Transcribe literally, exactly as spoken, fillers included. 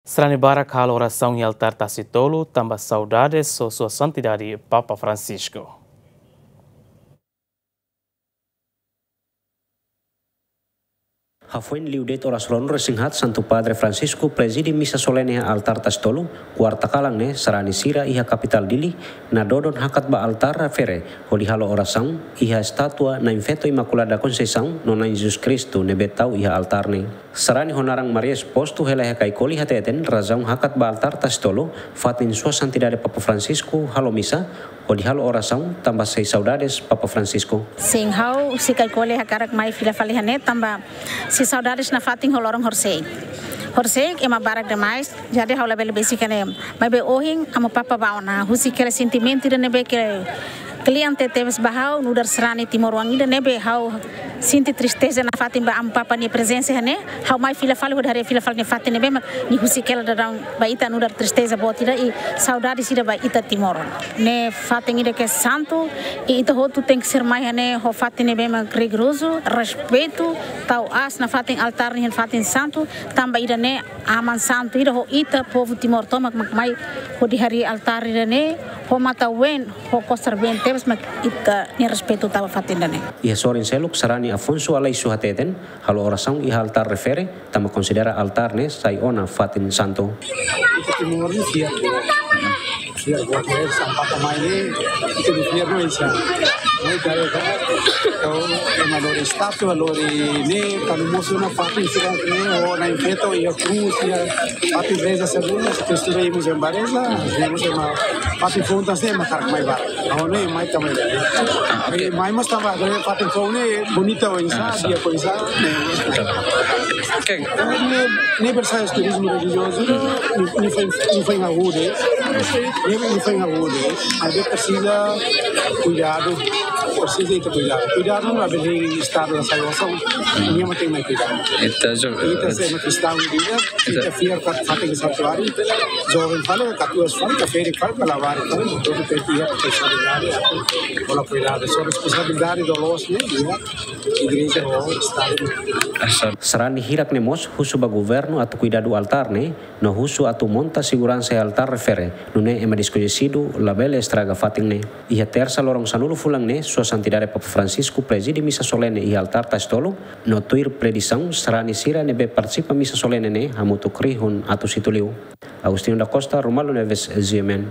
Sarani barak halo orasaun iha altár Tasi Tolu, tanba saudades ho Sua Santidade Papa Francisco. Hafoin liu de'it oras ruanulu-resin-haat, Santu Padre Francisco prezide misa solene iha altár Tasi Tolu, kuarta kalan ne'e, sarani sira iha kapitál Dili nadodon hakat ba altár refere, hodi halo orasaun iha estátua Na'in Feto Imakulada Konseisaun no Na'in Jesus Kristu ne'ebé tau iha altár ne'e. Sarani ho naran Maria Exposto hela iha Caicoli hateten razaun hakat ba altár Tasi Tolu, fatin Sua Santidade Papa Francisco halo misa, hodi halo orasaun tanba sei saudades Papa Francisco. Sin, ha'u husi Caicoli hakarak mai fila fali iha ne'e tanba sei saudades nafatin ho loron horiseik. Horiseik ema barak demais, jadi ha'u labele besik iha ne'e. Maibé ohin, Amu Papa bá ona, husik hela sentimentu ida ne'ebé ke kle'an tebes ba ha'u, nu'udar sarani timoroan ida ne'ebé ha'u sente tristeza nafatin ba Amu Papa nia prezensa iha ne'e, ha'u mai fila fali hodi haree fila fali nia fatin ne'ebé mak nia husik hela daudaun ba ita nu'udar tristeza boot ida i saudades ida ba ita timoroan. Ne'e fatin ida ke santu, i ita hotu tenke ser mai iha ne'e ho fatin ne'ebé mak rigorozu, respeitu, tau aas nafatin altár ne'e fatin santu, tanba ida-ne'e aman santu ida ho ita povu Timor tomak mak mai hodi harii altár ida-ne'e ho matan ween, ho kosar-been tebes mak ita-nia respeitu tau ba fatin ida-ne'e. Iha sorin seluk, sarani Afonso Aleixo hateten, halo orasaun iha altár refere, tanba konsidera altár ne'e sai ona fatin santu. Ita Timor ne'e fiar. Fiar buat ne'e sampai kemai ne'e, ita fiar no insya. Ne'e kare ka. Kau ema lori estátua, lori ne'e, kanu mosu ona fatin sira ne'e, o Na'in Feto, iha krús, iha fatin reza según, se tu estuda iha Muzeu Bareza, iha Muzeu ma, fatin fontas ne'e, ema hakarak mai barak. Agora ne'e, mai também. Ah, ok. E mai mas tanba, agora fatin fontas ne'e, bonita, o insya, ah, sa, dia ko insya. Oke. Ne'e, ne'e bersa turizmu relijiozu, ne'e, ne'e foin, ne'e foin hahú de'it, ne'e, ne'e foin hahú de'it, maibé presiza kuidadu, presiza ita kuidadu. Kuidadu labele estadu la salvasaun, nia mak tenke mai kuidadu. Ita jo-, ita se ema kristaun ida, ita, ita fiar ka fatin santuáriu, joven fali, katuas fali, ka ferik fali, ka labarik fali, hotu tenke iha responsabilidade, hola kuidadu. So responsabilidade doloz ne'e, iha igreja ho estadu. Sarani hirak ne'e mós husu ba governu atu kuidadu altár ne'e, no husu atu monta seguransa iha altár refere, nune'e ema deskoñesidu labele estraga fatin ne'e. Iha tersa loron sanulu fulan ne'e, Sua Santidade Papa Francisco prezide misa solene iha altár Tasi Tolu, no tuir predisaun sarani sira ne'ebé partisipa misa solene ne'e hamutuk rihun atus hitu liu. Agostinho da Costa, Romualdo Neves, G M N.